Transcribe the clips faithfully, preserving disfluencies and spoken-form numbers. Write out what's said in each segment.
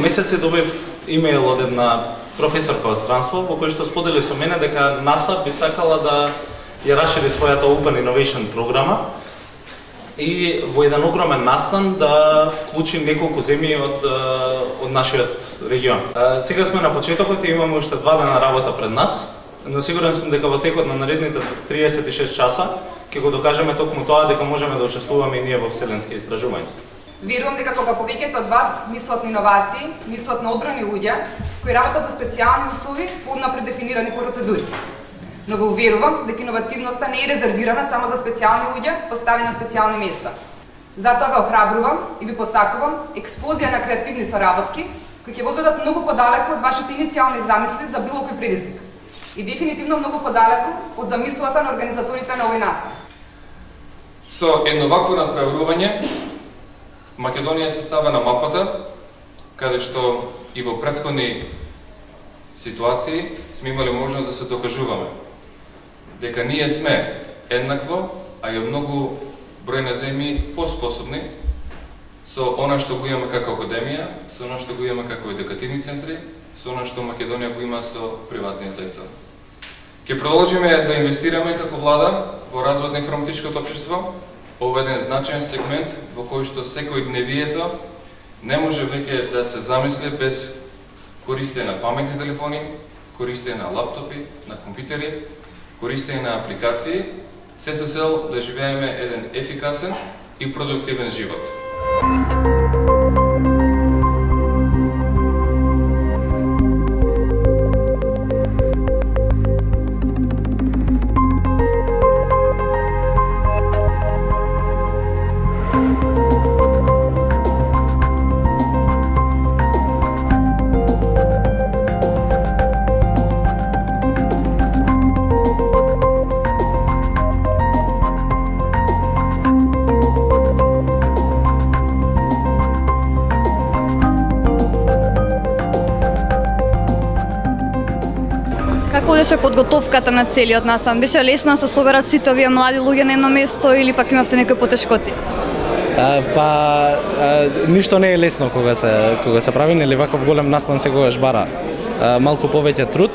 месеци добив имејл од една професорка од странство, во кој што сподели со мене дека НАСА би сакала да ја расшири својата Open Innovation програма и во еден огромен настан да вклучи неколку земји од, од нашиот регион. Сега сме на почетокот и имаме уште два дена работа пред нас, но сигурен сум дека во текот на наредните триесет и шест часа ќе го докажеме токму тоа дека можеме да учествуваме и ние во вселенски истражувања. Верувам дека кога повеќето од вас мислат на иновации, мислат на одбрани луѓе кои работат во специјални услови по однапред дефинирани процедури. Но ве уверувам дека иновативноста не е резервирана само за специјални луѓе поставени на специјални места. Затоа ве охрабрувам и ви посакувам експозија на креативни соработки кои ќе одведат многу подалеку од вашите иницијални замисли за било кој предизвик. И дефинитивно многу подалеку од замислата на организаторите на овој настан. Со едно вакво надпреварување Македонија се става на мапата, каде што и во претходни ситуации сме имали можност да се докажуваме дека ние сме еднакво, а и многу број на земји поспособни со она што го имаме како академија, со она што го имаме како едукативни центри, со она што Македонија го има со приватниот сектор. Ќе продолжиме да инвестираме како влада во развојот на информатичкото општество. Ова е еден значаен сегмент во кој што секој дневието не може веќе да се замисли без користење на паметни телефони, користење на лаптопи, на компјутери, користење на апликации, се со цел да живееме еден ефикасен и продуктивен живот. Како беше подготовката на целиот настан? Беше лесно да се соберат сите овие млади луѓе на едно место или пак имавте некои потешкоти? А, па а, ништо не е лесно кога се кога се прави, нели ваков голем настан секогаш бара а, малку повеќе труд.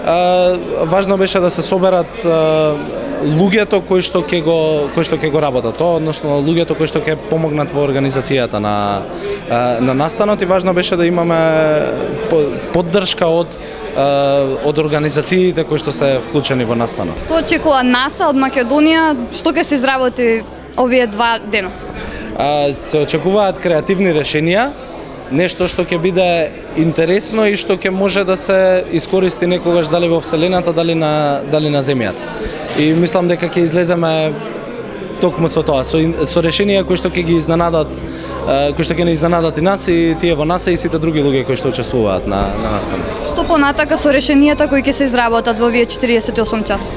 А, важно беше да се соберат а, луѓето кои што ќе го кои што ќе го работат, тоа односно луѓето кои што ќе помогнат во организацијата на на настанот, и важно беше да имаме поддршка од од организациите кои што се вклучени во настанот. Што очекува НАСА од Македонија, што ќе се изработи овие два дена? А, се очекуваат креативни решенија, нешто што ќе биде интересно и што ќе може да се искористи некогаш дали во вселената, дали на дали на земјата. И мислам дека ќе излеземе токму со тоа, со, со решенија кои што ќе ги изненадат, кои што ќе не изненадат и нас и тие во НАСА и сите други луѓе кои што учествуваат на на настанот. Што понатака со решенијата кои ќе се изработат во овие четириесет и осум часа?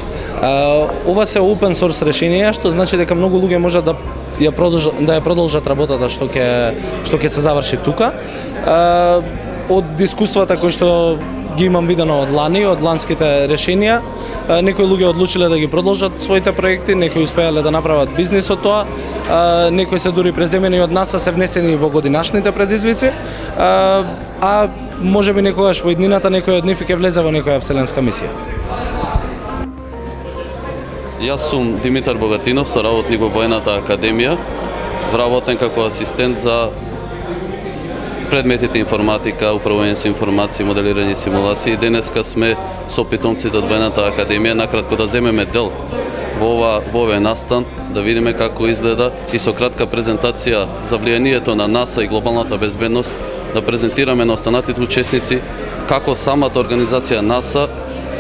Uh, ова се open source решенија, што значи дека многу луѓе можат да ја продолжат да ја продолжат работата што ќе што ќе се заврши тука. Uh, од искуствата кои што ги имам видено од лани, од ланските решенија, uh, некои луѓе одлучиле да ги продолжат своите проекти, некои успеале да направат бизнис од тоа, uh, некои се дури преземени од НАСА, се внесени во годинашните предизвици, uh, а можеби некогаш во иднината некој од нив ќе влезе во некоја вселенска мисија. Јас сум Димитар Богатинов, соработник во Воената академија, вработен како асистент за предметите информатика, управување со информации, моделирање и симулации. Денеска сме со питомците од Воената академија, накратко да земеме дел во ова во овој настан, да видиме како изгледа и со кратка презентација за влијанието на НАСА и глобалната безбедност, да презентираме на останатите учесници како самата организација НАСА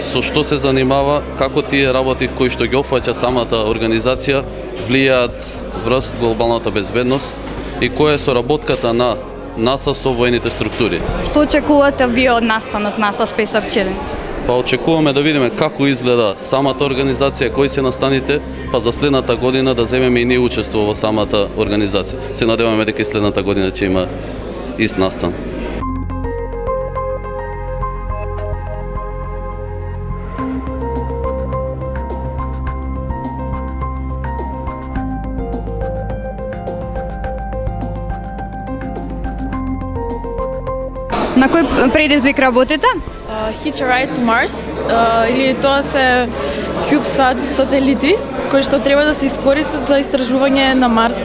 со што се занимава, како тие работи кои што ги опфаќа самата организација влијаат врз глобалната безбедност и која е соработката на НАСА со воените структури. Што очекувате вие од настанот НАСА Space Up Challenge? Па очекуваме да видиме како изгледа самата организација, кои се настаните, па за следната година да земеме и ние учество во самата организација. Се надеваме дека и следната година ќе има ист настан. На кој предизвик работите? Uh, Hitch a Ride to Mars, uh, или тоа се CubeSat сателити кои што треба да се искористат за истражување на Марс.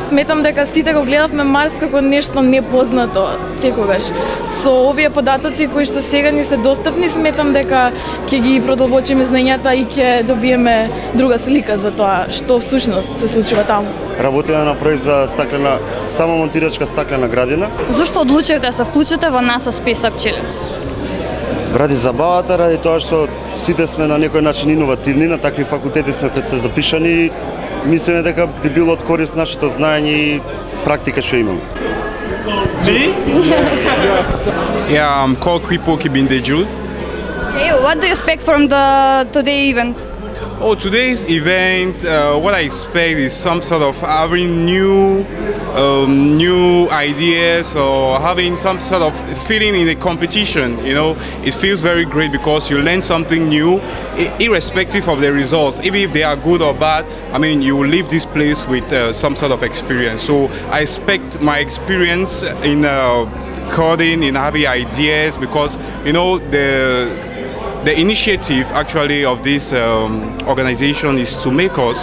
Сметам дека сите го гледавме Марс како нешто непознато секогаш. Со овие податоци кои што сега ни се достапни, сметам дека ќе ги продолбочиме знањата и ќе добиеме друга слика за тоа што всушност се случува таму. Работиме на проект за стаклена, само монтирачка стаклена градина. Зошто одлучивте да се вклучите во NASA Space Up Chile? Ради забавата, ради тоа што сите сме на некој начин иновативни, на такви факултети сме пред се запишани. Мислиме дека би било од корист нашето знаење и практика што имаме. Me? Yeah, I'm called Kripo Kibindeju. Okay, what do you expect from the today event? Oh, today's event, uh, what I expect is some sort of having new, um, new ideas or having some sort of feeling in the competition. You know, it feels very great because you learn something new, irrespective of the results. Even if they are good or bad, I mean, you will leave this place with uh, some sort of experience. So I expect my experience in uh, coding, in having ideas, because you know the. The initiative actually of this um, organization is to make us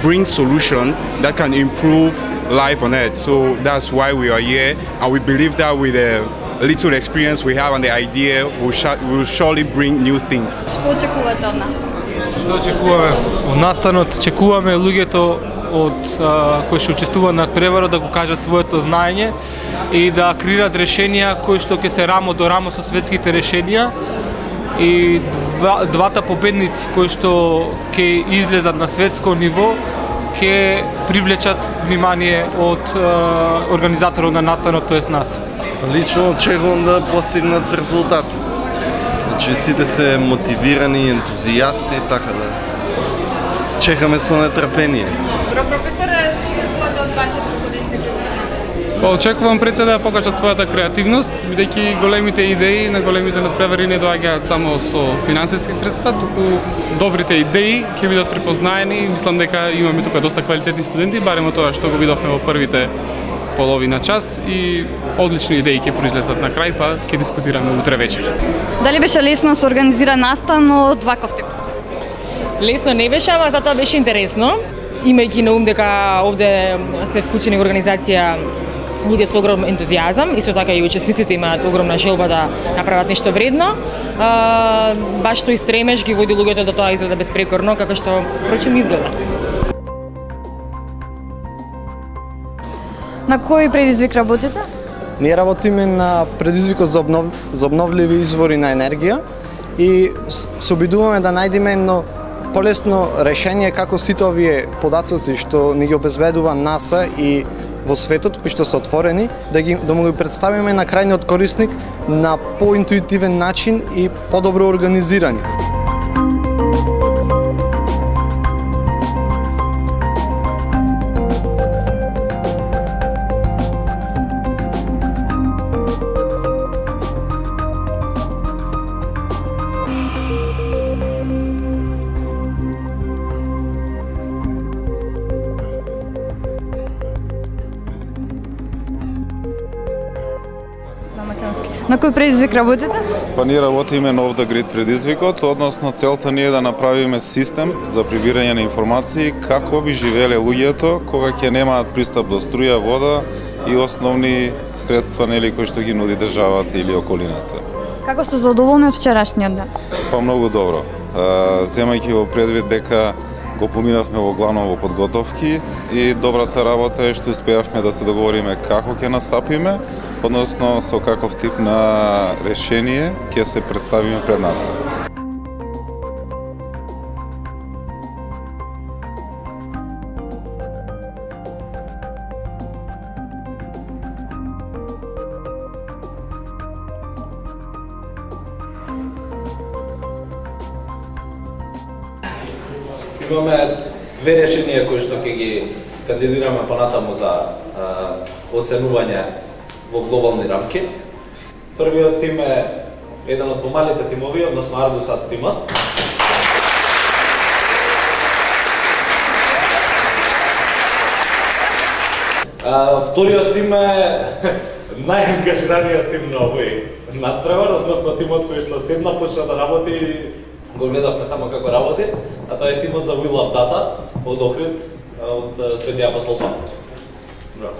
bring solutions that can improve life on Earth. So that's why we are here, and we believe that with the little experience we have and the idea, we'll, we'll surely bring new things. Што очекувате од настанот? Што очекуваме од настанот? Очекуваме луѓето од а, кои што учествуваат на преварот да го кажат своето знаење и да креираат решенија кои што ќе се рамо до рамо со светските решенија. И два, двата победници кои што ќе излезат на светско ниво ќе привлечат внимание од е, организаторот на настанот, тоест нас. Лично очекувам да постигнат резултат. Значи сите се мотивирани, ентузијасти, така да чекаме со нетрпение. Добро, професоре, што очекувате од вашите студенти? Очекувам пред се да покажат својата креативност, бидејќи големите идеи на големите надпревари не доаѓаат само со финансиски средства, туку добрите идеи ќе бидат препознаени и мислам дека имаме тука доста квалитетни студенти, барем од тоа што го видовме во првите половина час, и одлични идеи ќе произлезат на крај, па ќе дискутираме утре вечер. Дали беше лесно се организира настан од ваков тип? Лесно не беше, ама затоа беше интересно. Имајќи на ум дека овде се вклучени во организација луѓе со огромен ентузијазам, исто така и учесниците имаат огромна желба да направат нешто вредно. А, баш тој стремеж ги води луѓето да тоа изгледа безпрекорно, како што впрочем изгледа. На кој предизвик работите? Ние работиме на предизвикот за, обнов... за обновливи извори на енергија и се обидуваме да најдеме едно полесно решение како сите овие податоци што ни ги обезбедува NASA и во светот, кои што се отворени, да ги да му ги представиме на крајниот корисник на поинтуитивен начин и подобро организирани. На кој предизвик работите? Па ние работиме на Off the Grid предизвикот, односно целта ни е да направиме систем за прибирање на информации како би живееле луѓето кога ќе немаат пристап до струја, вода и основни средства нели кои што ги нуди државата или околината. Како сте задоволни од вчерашниот ден? Па многу добро. Земајќи во предвид дека го поминавме во главно во подготовки и добрата работа е што успеавме да се договориме како ќе настапиме, односно со каков тип на решение ќе се представиме пред нас. Имаме две решенија кои што ќе ги кандидираме понатаму за а, оценување во глобални рамки. Првиот тим е еден од помалите тимови, односно Ardusat тимот. А, вториот тим е најангажираниот тим на овој надпревар, односно тимот кој што седна почна да работи и го гледавме само како работи, а тоа е тимот за We Love Data од Охрид, од Свети Апостол Павле. Браво.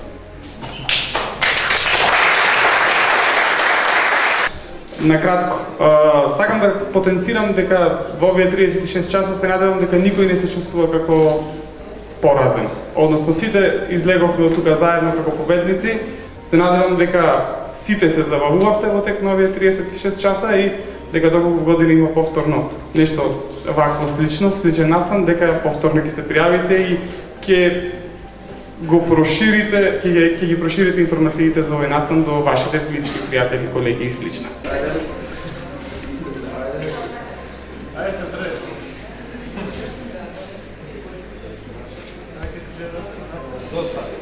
Накратко, сакам да потенцирам дека во овие триесет и шест часа се надевам дека никој не се чувствува како поразен. Односно сите излеговме од тука заедно како победници. Се надевам дека сите се забавувавте во тек на овие триесет и шест часа и дека доколку година има повторно нешто вакво слично, сличен настан, дека повторно ќе се пријавите и ќе го проширите, ќе ќе ги проширите информациите за овој настан до вашите блиски пријатели, колеги и слично. Ајде се среди. Доста.